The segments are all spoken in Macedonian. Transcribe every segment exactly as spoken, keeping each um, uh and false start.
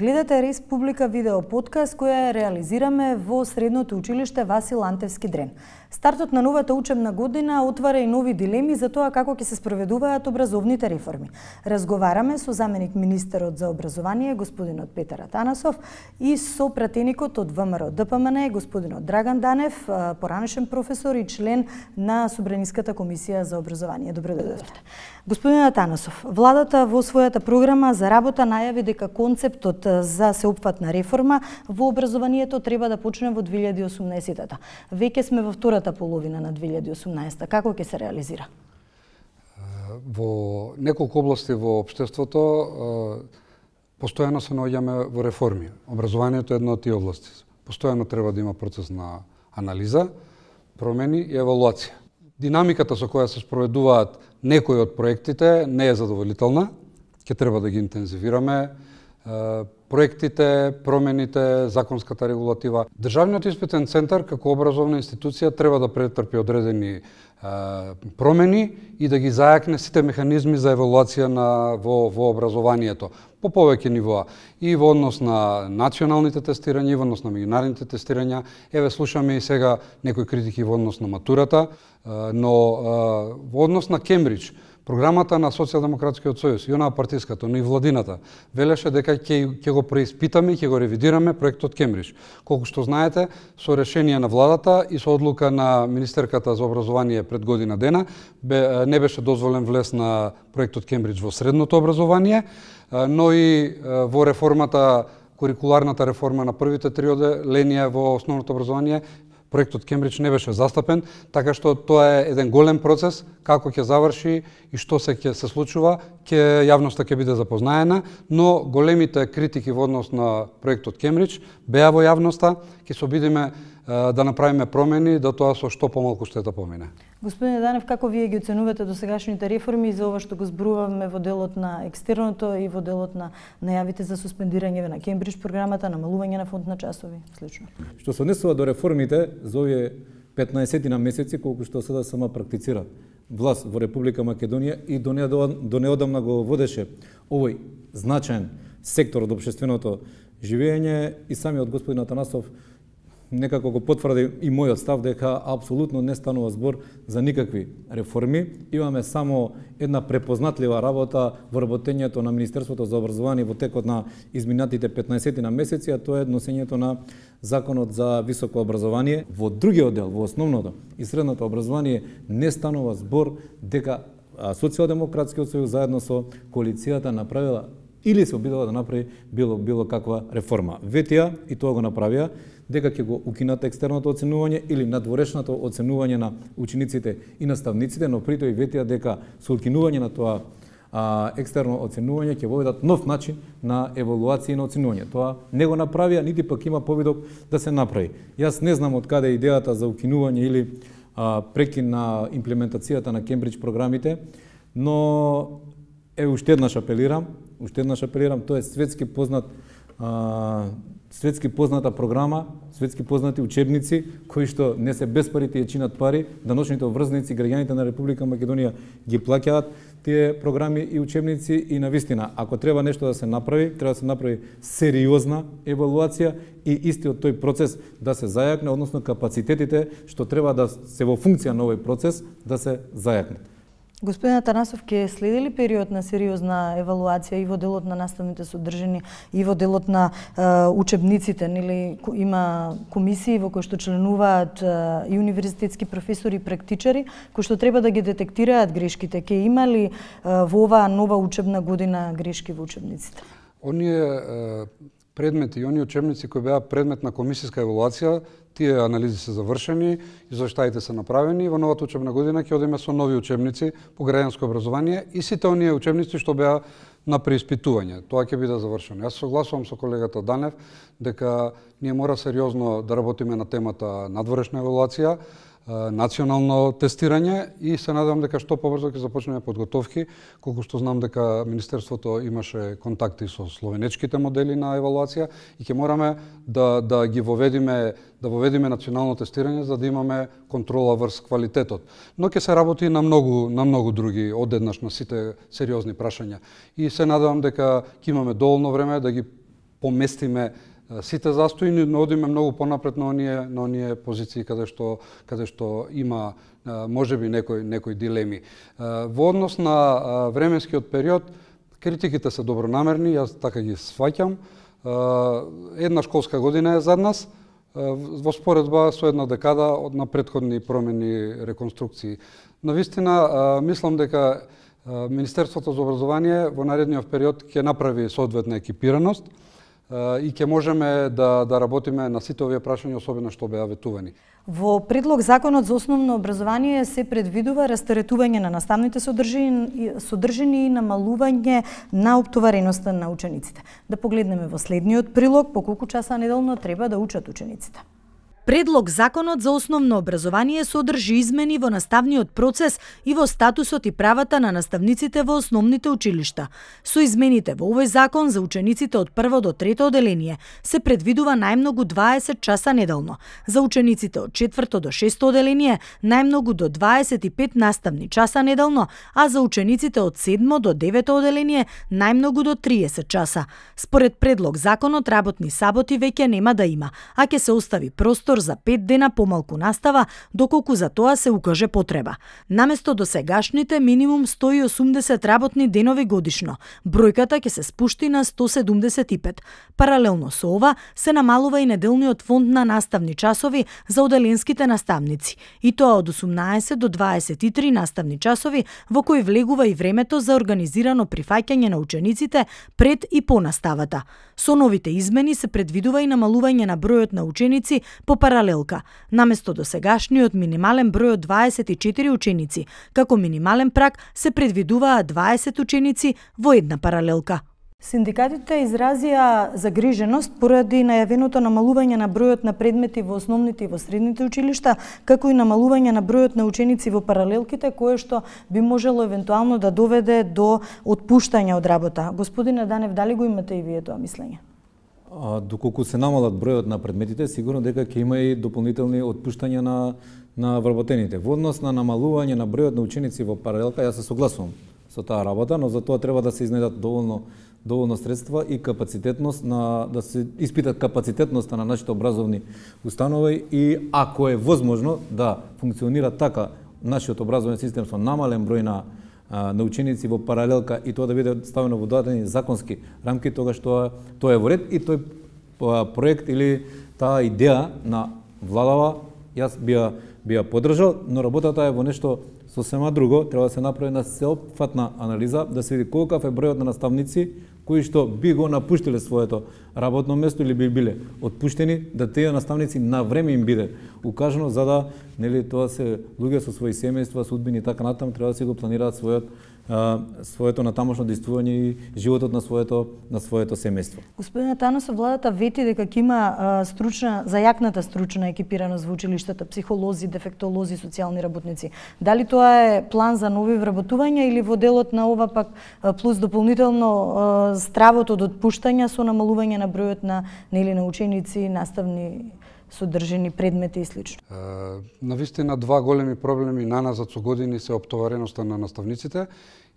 Гледате Республика видео подкаст која реализираме во Средното училиште Васил Антевски Дрен. Стартот на новата учебна година отвара и нови дилеми за тоа како ќе се спроведуваат образовните реформи. Разговараме со заменик министерот за образование господинот Петар Атанасов и со пратеникот од ВМРО Д П М Н господинот Драган Данев, поранешен професор и член на Собраниската комисија за образование. Добро дојдовте. Господин Атанасов, владата во својата програма за работа најави дека концептот за сеопфатна реформа во образованието треба да почне во две илјади и осумнаесетта. Веќе сме во втората половина на две илјади и осумнаесетта. Како ќе се реализира? Во неколку области во општеството постојано се наоѓаме во реформи. Образованието е една од тие области. Постојано треба да има процес на анализа, промени и евалуација. Динамиката со која се спроведуваат некои од проектите не е задоволителна. Ќе треба да ги интензивираме проектите, промените, законската регулатива. Државниот испитен центар како образовна институција треба да претрпи одредени промени и да ги зајакне сите механизми за евалуација на во во образованието по повеќе нивоа и во однос на националните тестирања и во однос на меѓународните тестирања. Еве слушаме и сега некои критики во однос на матурата, но во однос на Кембридж, програмата на Социјалдемократскиот сојуз и онаа партиската, но и владината, велеше дека ќе ќе го преиспитаме и ќе го ревидираме проектот Кембридж. Колку што знаете, со решение на владата и со одлука на министерката за образование пред година дена, бе, не беше дозволен влез на проектот Кембридж во средното образование, но и во реформата, курикуларната реформа на првите три оделенија во основното образование, проектот Кембридж не беше застапен, така што тоа е еден голем процес, како ќе заврши и што се ќе се случува, ќе јавноста ќе биде запознаена, но големите критики во однос на проектот Кембридж беа во јавноста, ќе се обидиме да направиме промени, да тоа со што помалку штета помине. Господин Данев, како вие ги оценувате досегашните реформи и за ова што го зборуваме во делот на екстерното и во делот на најавите за суспендирање на Кембридж програмата, намалување на фонд на часови, слично? Што се однесува до реформите за овие петнаесетина месеци колку што сега сама практицира власт во Република Македонија и до неодамна го водеше овој значаен сектор од општественото живење и самиот господин Атанасов некако го потврди и мојот став дека апсолутно не станува збор за никакви реформи. Имаме само една препознатлива работа во работењето на Министерството за образование во текот на изминатите петнаесетина месеци, а тоа е носењето на Законот за високо образование. Во другиот дел, во основното и средното образование, не станува збор дека Социјалдемократскиот сојуз заедно со коалицијата направила или се обидела да направи било било каква реформа. Ветија и тоа го направија дека ќе го укинат екстерното оценување или надворешното оценување на учениците и наставниците, но при тоа и ветија дека со укинување на тоа а, екстерно оценување ќе воведат нов начин на евалуација и на оценување. Тоа не го направија, нити пак има повидок да се направи. Јас не знам од каде е идејата за укинување или а, прекин на имплементацијата на Кембридж програмите, но е уште еднаш апелирам, уште еднаш апелирам, тоа е светски познат а, светски позната програма, светски познати учебници, кои што не се без парите ја чинат пари, даночните обврзници, граѓаните на Република Македонија ги плаќаат тие програми и учебници и навистина, ако треба нешто да се направи, треба да се направи сериозна евалуација и истиот тој процес да се зајакне, односно капацитетите што треба да се во функција на овој процес да се зајакнат. Господин Атанасов, ќе следи ли период на сериозна евалуација и во делот на наставните содржини и во делот на е, учебниците, нели има комисии во кои што членуваат е, и универзитетски професори и практичари кои што треба да ги детектираат грешките? Ќе има ли е, во оваа нова учебна година грешки во учебниците? Оние е, предмети и оние учебници кои беа предмет на комисијска евалуација, тие анализи се завршени, извештаите се направени, во новата учебна година ќе одиме со нови учебници по граѓанско образование и сите оние учебници што беа на преиспитување. Тоа ќе биде завршено. Јас согласувам со колегата Данев дека ние мора сериозно да работиме на темата надворешна евалуација, национално тестирање и се надевам дека што побрзо ќе започнеме подготовки, колку што знам дека Министерството имаше контакти со словенечките модели на евалуација и ќе мораме да да ги воведиме да воведиме национално тестирање за да имаме контрола врз квалитетот. Но ќе се работи на многу на многу други одеднаш на сите сериозни прашања. И се надевам дека ќе имаме доволно време да ги поместиме сите застои, но одиме многу понапред на оние на оние позиции каде што каде што има можеби некои некои дилеми. Во однос на временскиот период, критиките се добронамерни, јас така ги сваќам. Една школска година е зад нас, во споредба со една декада од на претходни промени, реконструкции. Навистина, мислам дека Министерството за образование во наредниот период ќе направи соодветна екипираност и ќе можеме да, да работиме на сите овие прашања, особено што беа ветувани. Во предлог законот за основно образование се предвидува растаретување на наставните содржини, содржини и намалување на оптовареноста на учениците. Да погледнеме во следниот прилог по колку часа неделно треба да учат учениците. Предлог законот за основно образование содржи измени во наставниот процес и во статусот и правата на наставниците во основните училишта. Со измените во овој закон за учениците од прво до трето оделение се предвидува најмногу дваесет часа неделно, за учениците од четврто до шесто оделение најмногу до дваесет и пет наставни часа неделно, а за учениците од седмо до девето оделение најмногу до триесет часа. Според предлог законот работни саботи веќе нема да има, а ќе се остави простор за пет дена помалку настава, доколку за тоа се укаже потреба. Наместо досегашните минимум сто и осумдесет работни денови годишно, бројката ќе се спушти на сто седумдесет и пет. Паралелно со ова се намалува и неделниот фонд на наставни часови за оделенските наставници, и тоа од осумнаесет до дваесет и три наставни часови, во кои влегува и времето за организирано прифаќање на учениците пред и по наставата. Со новите измени се предвидува и намалување на бројот на ученици по паралелка, наместо досегашниот минимален број од дваесет и четири ученици, како минимален праг се предвидуваат дваесет ученици во една паралелка. Синдикатите изразија загриженост поради најавеното намалување на бројот на предмети во основните и во средните училишта, како и намалување на бројот на ученици во паралелките, кое што би можело евентуално да доведе до отпуштање од работа. Господине Данев, дали го имате и вие тоа мислење? А, доколку се намалат бројот на предметите, сигурно дека ќе има и дополнителни отпуштања на на вработените. Во однос на намалување на бројот на ученици во паралелка, јас се согласувам со таа работа, но за тоа треба да се изнедат доволно доволно средства и капацитетност на да се испитат капацитетноста на нашите образовни установи и ако е возможно да функционира така нашиот образовен систем со намален број на на ученици во паралелка и тоа да биде ставено во дадени законски рамки, тогаш тоа тоа е во ред и тој проект или таа идеја на владава јас би ја би ја поддржал, но работата е во нешто сосема друго. Треба да се направи една сеопфатна анализа, да се види колкав е бројот на наставници кои што би го напуштиле своето работно место или би биле отпуштени, да тие наставници на време им биде укажано, за да нели тоа се луѓе со своји семејства, судбини и така натаму, треба да си го планираат својот а, своето натамошно действување и животот на своето на своето семејство. Господин Таносов, владата вети дека ќе има а, стручна, зајакната стручна екипираност во училиштата, психолози, дефектолози, социјални работници. Дали тоа е план за нови вработувања или во делот на ова пак плюс дополнително а, стравот од отпуштања со намалување на бројот на нели на ученици, наставни содржини, предмети и слично? Навистина два големи проблеми наназад со години се оптовареноста на наставниците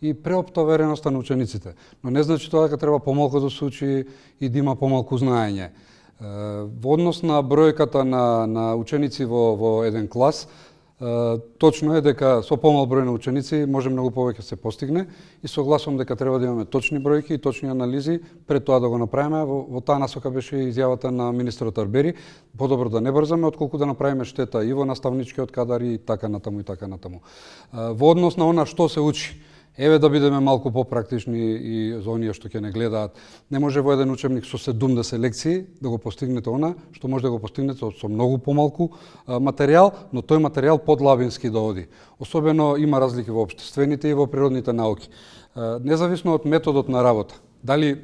и преоптовареноста на учениците. Но не значи тоа дека треба помалку да се учи и да има помалку знаење. Во однос на бројката на, на ученици во, во еден клас, точно е дека со помал број на ученици може многу повеќе се постигне и согласувам дека треба да имаме точни бројки и точни анализи пред тоа да го направиме. Во, во таа насока беше изјавата на министерот Арбери, подобро да не брзаме отколку да направиме штета и во наставничкиот кадар и така натаму и така натаму. Во однос на она што се учи, еве да бидеме малку попрактични и за оние што ќе не гледаат. Не може во еден учебник со седумдесет лекции да го постигнете она што може да го постигнете со многу помалку материјал, но тој материјал подлабински да оди. Особено има разлики во општествените и во природните науки. Независно од методот на работа. Дали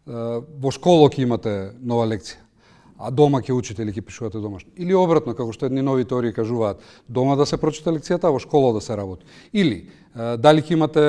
во школа ќе имате нова лекција, а дома ќе учите или ќе пишувате домашно. Или обратно, како што едни нови теории кажуваат, дома да се прочита лекцијата, а во школа да се работи. Или дали ќе имате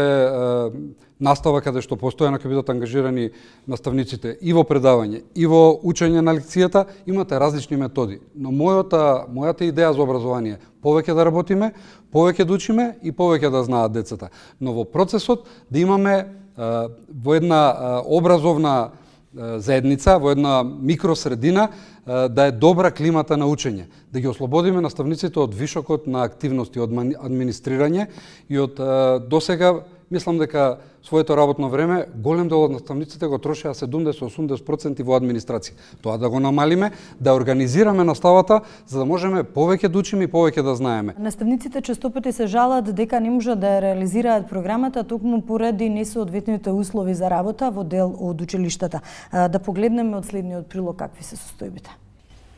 настава каде што постојано ќе бидат ангажирани наставниците и во предавање, и во учење на лекцијата, имате различни методи. Но мојата, мојата идеја за образование е повеќе да работиме, повеќе да учиме и повеќе да знаат децата. Но во процесот да имаме во една образовна заедница, во една микросредина, да е добра климата на учење, да ги ослободиме наставниците од вишокот на активности, од администрирање и од досега, мислам дека своето работно време голем дел од наставниците го трошеа седумдесет до осумдесет проценти во администрација. Тоа да го намалиме, да организираме наставата, за да можеме повеќе да учиме и повеќе да знаеме. Наставниците честопати се жалат дека не можат да ја реализираат програмата токму поради несоодветните услови за работа во дел од училиштата. Да погледнеме од следниот прилог какви се состојбите.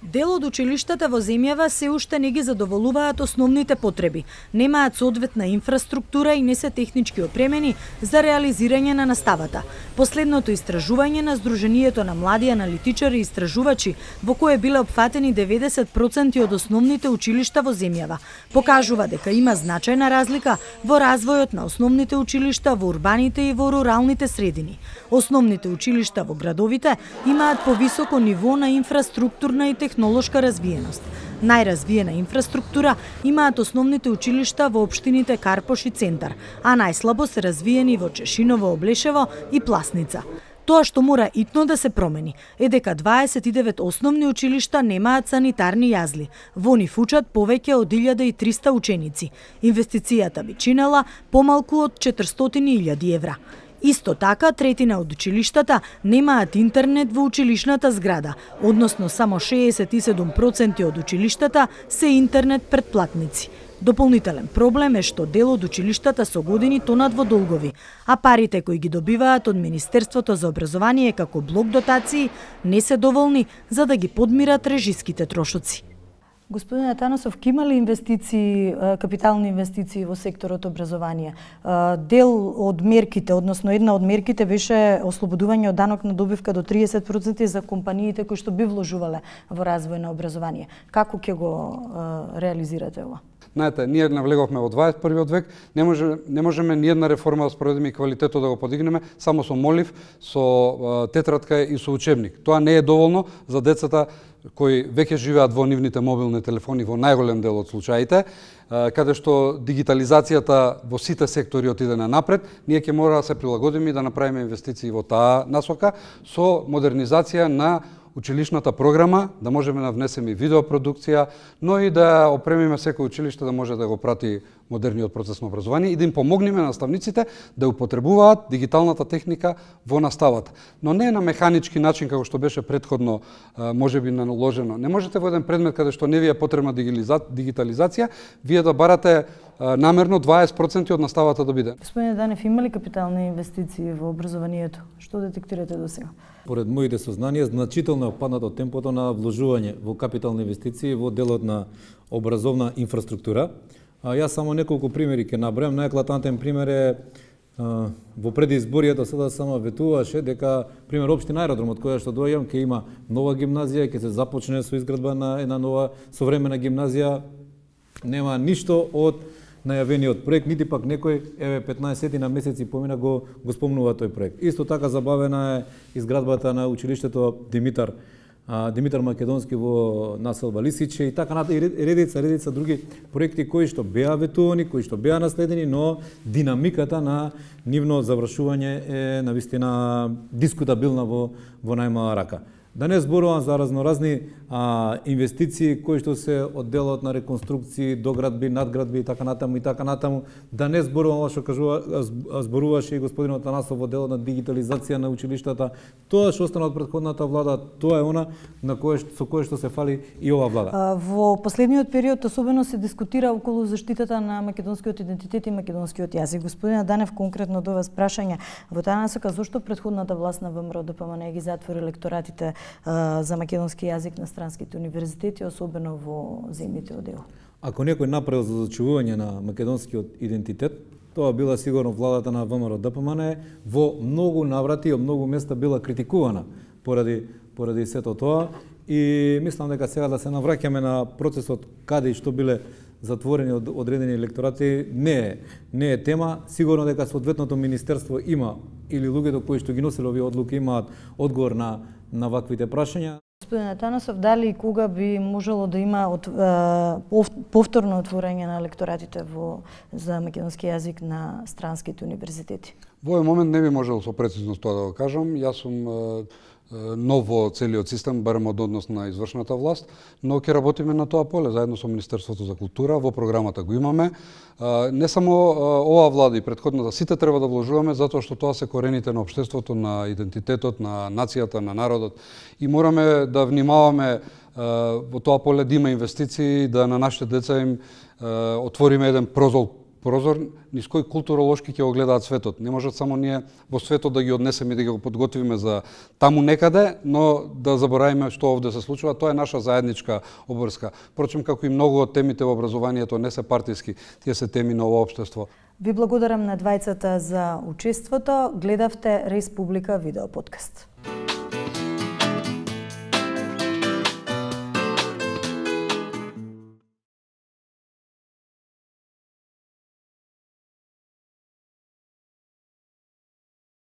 Дел од училиштата во земјава се уште не ги задоволуваат основните потреби. Немаат соодветна инфраструктура и не се технички опремени за реализирање на наставата. Последното истражување на Сдруженијето на млади аналитичари и истражувачи, во кое биле опфатени деветдесет проценти од основните училишта во земјава, покажува дека има значајна разлика во развојот на основните училишта во урбаните и во руралните средини. Основните училишта во градовите имаат повисоко ниво на инфраструктурна и технолошка развиеност. Најразвиена инфраструктура имаат основните училишта во општините Карпош и Центар, а најслабо се развиени во Чешиново, Облешево и Пласница. Тоа што мора итно да се промени е дека дваесет и девет основни училишта немаат санитарни јазли. Во нив учат повеќе од илјада и триста ученици. Инвестицијата би чинела помалку од четиристотини илјади евра. Исто така, третина од училиштата немаат интернет во училишната зграда, односно само шеесет и седум проценти од училиштата се интернет претплатници. Дополнителен проблем е што дел од училиштата со години тонат во долгови, а парите кои ги добиваат од Министерството за образование како блок дотации не се доволни за да ги подмират режиските трошоци. Господин Атанасов, ке има ли инвестиции, капитални инвестиции во секторот образование? Дел од мерките, односно една од мерките беше ослободување од данок на добивка до триесет проценти за компаниите кои што би вложувале во развој на образование. Како ќе го реализирате ова? Знаете, ние навлеговме во дваесет и првиот век, не може не можеме ни една реформа да спроведеме и квалитетот да го подигнеме само со молив, со тетрадка и со учебник. Тоа не е доволно за децата кои веќе живеат во нивните мобилни телефони во најголем дел од случаите, каде што дигитализацијата во сите сектори отиде на напред, ние ќе мора да се прилагодиме и да направиме инвестиции во таа насока со модернизација на училишната програма, да можеме да внесеме и видеопродукција, но и да опремиме секој училиште да може да го прати модерниот процес на образование и да им помогнеме на наставниците да употребуваат дигиталната техника во наставата. Но не на механички начин како што беше претходно можеби наложено. Не можете во еден предмет каде што не ви е потребна дигитализација, вие да барате намерно дваесет проценти од наставата да биде. Господине Данев, има ли капитални инвестиции во образованието? Што детектирате до сега? Поред моите сознанија, значително е паднато темпото на вложување во капитални инвестиции во делот на образовна инфраструктура. А, јас само неколку примери ќе набројам. Најеклатантен пример е а, во предизборието сега само ветуваше дека пример општина Аеродром од која што доаѓам ќе има нова гимназија, ќе се започне со изградба на една нова современа гимназија. Нема ништо од најавениот проект, нити пак некој, еве петнаесет на месеци помина го, го спомнува тој проект. Исто така забавена е изградбата на училиштето Димитар а, Димитар Македонски во населба Лисиче и така и редица, редица други проекти кои што беа ветувани, кои што беа наследени, но динамиката на нивно завршување е навистина дискутабилна во, во најмала рака. Да не зборувам за разноразни а, инвестиции кои што се од делот на реконструкции, доградби, надградби и така натаму и така натаму. Да не зборувам ова што кажува зборуваше и господин Атанасов во делот на дигитализација на училиштата. Тоа што остана од претходната влада, тоа е она на кое со кое што се фали и ова влада. А, во последниот период особено се дискутира околу заштитата на македонскиот идентитет и македонскиот јазик. Господин Данев, конкретно до вас прашање во таа насока, зошто претходната власт на ВМРО Д П М Н ги затвори лекторатите за македонски јазик на странските универзитети, особено во земјите од Е У? Ако некој направил за зачувување на македонскиот идентитет, тоа била сигурно владата на ВМРО Д П М Н, во многу наврати и од многу места била критикувана поради поради сето тоа и мислам дека сега да се навраќаме на процесот каде и што биле затворени од одредени лекторати не е не е тема. Сигурно дека соодветното министерство има или луѓето кои што ги носели овие одлуки имаат одговор на на ваквите прашања. Господин Атанасов, дали и кога би можело да има од, е, повторно отворање на лекторатите во за македонски јазик на странските универзитети? Во овој момент не би можел со прецизност тоа да го кажам. Јас сум нов во целиот систем, барем од однос на извршната власт, но ќе работиме на тоа поле заедно со Министерството за култура, во програмата го имаме. Не само оваа влада и претходната, сите треба да вложуваме затоа што тоа се корените на општеството, на идентитетот, на нацијата, на народот и мораме да внимаваме во тоа поле да има инвестиции, да на нашите деца им отвориме еден прозор прозор низ кој културолошки ќе го гледаат светот. Не можат само ние во светот да ги однесеме и да ги го подготвиме за таму некаде, но да заборавиме што овде се случува. Тоа е наша заедничка обврска. Впрочем, како и многу од темите во образованието не се партиски, тие се теми на ова општество. Ви благодарам на двајцата за учеството. Гледавте Республика видео подкаст.